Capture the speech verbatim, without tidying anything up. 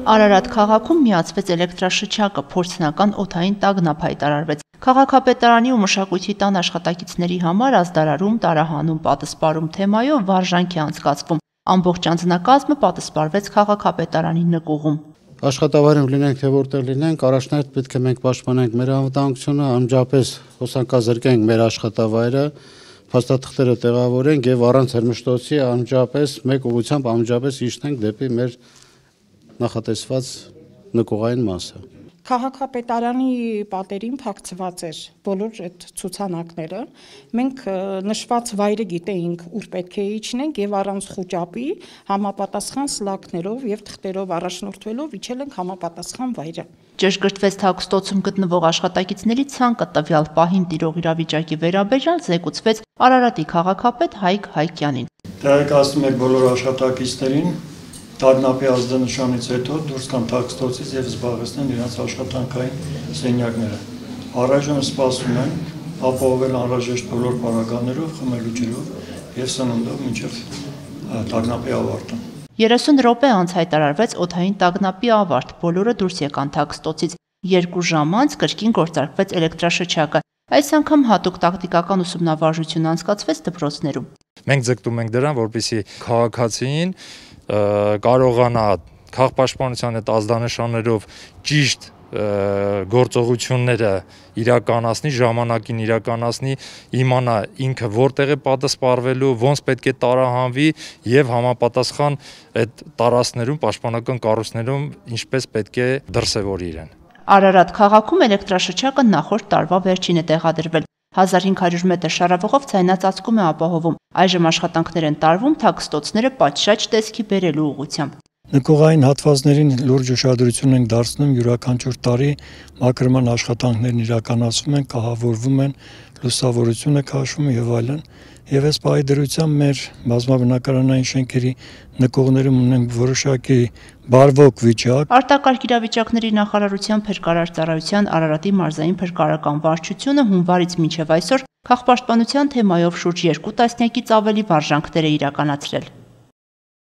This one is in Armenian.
Արարատ քաղաքում միացվեց էլեկտրաշչակը, փորձնական օդային տագնապ հայտարարվեց։ Քաղաքապետարանի ու մշակույթի տան աշխատակիցների համար ազդարարում, տարահանում, պատասպարում թեմայով վարժանք է անցկացվում։ Ամբողջ անձնակազմը պատասպարվեց քաղաքապետարանի նկուղում։ Աշխատավայրում լինենք, թե որտեղ լինենք, առաջնահերթ պետք է մենք պաշտպանենք մեր անվտանգությունը, անմիջապես հոսանքազրկենք մեր աշխատավայրը, փաստաթղթերը տեղավորենք եւ առանց հրմշտոցի անմիջապես մեկ ուղղությամբ անմիջապես իջնենք դեպի մեր նախատեսված նկուղային մասը։ Քաղաքապետարանի պատերին փակցված էր բոլոր այդ ցուցանակները։ Մենք նշված վայրը գիտեինք, ուր պետք է իջնենք եւ առանց խուճապի համապատասխան սլաքներով եւ թղթերով առաջնորդվելով իջել ենք համապատասխան վայրը։ Ճշգրտվեց թաքստոցում գտնվող աշխատակիցների ցանկը տվյալ պահին տիրող իրավիճակի վերաբերյալ զեկուցվեց Արարատի քաղաքապետ Հայկ Հայկյանին։ Տեղեկացնում եք բոլոր աշխատակիցներին տագնապի ազդանշանից հետո դուրս կան թաքստոցից եւ զբաղեցնեն իրենց աշխատանքային սենյակները։ Առայժմ սպասում են ապահովել անհրաժեշտ բոլոր պարագաներով, խմելու ջրով եւ սննդով մինչեւ տագնապի ավարտը։ երեսուն րոպե անց հայտարարվեց օդային տագնապի ավարտ, բոլորը դուրս եկան թաքստոցից։ Երկու ժամ անց կրկին գործարկվեց էլեկտրաշչակը։ Այս անգամ հատուկ տակտիկական ուսումնավարժություն անցկացվեց դպրոցներում։ Մենք ձգտում ենք դրան, որպեսզի քաղաքացին կարողանա քաղաքապաշտպանության այդ ազդանշաններով ճիշտ գործողությունները իրականացնի, ժամանակին իրականացնի, իմանա ինքը որտեղ է պատասպարվելու, ոնց պետք է տարահանվի եւ համապատասխան այդ տարածքներում, պաշտպանական կառույցներում ինչպես պետք է դրսևորի իրեն։ Արարատ քաղաքում էլեկտրաշչակը նախորդ տարվա վերջին է տեղադրվել։ հազար հինգ հարյուր մետր շարավղով ցայնածածկում է ապահովում։ Այժմ աշխատանքներ են տարվում թաքստոցները պատշաճ տեսքի բերելու ուղղությամբ։ Նկուղային հատվածներին լուրջ ուշադրություն ենք դարձնում, յուրաքանչյուր տարի մաքրման աշխատանքներն իրականացվում են, կահավորվում են, լուսավորություն է քաշվում եւ այլն։ Եվ այս պահի դրությամբ մեր բազմաբնակարանային շենքերի նկուղներում ունենք որոշակի բարվոք վիճակ։ Արտակարգ իրավիճակների նախարարության փրկարար ծառայության Արարատի մարզային փրկարարական վարչությունը հունվարից մինչև այսօր քաղաքապաշտպանության թեմայով շուրջ երկու տասնյակից ավելի վարժանքներ է իրականացրել։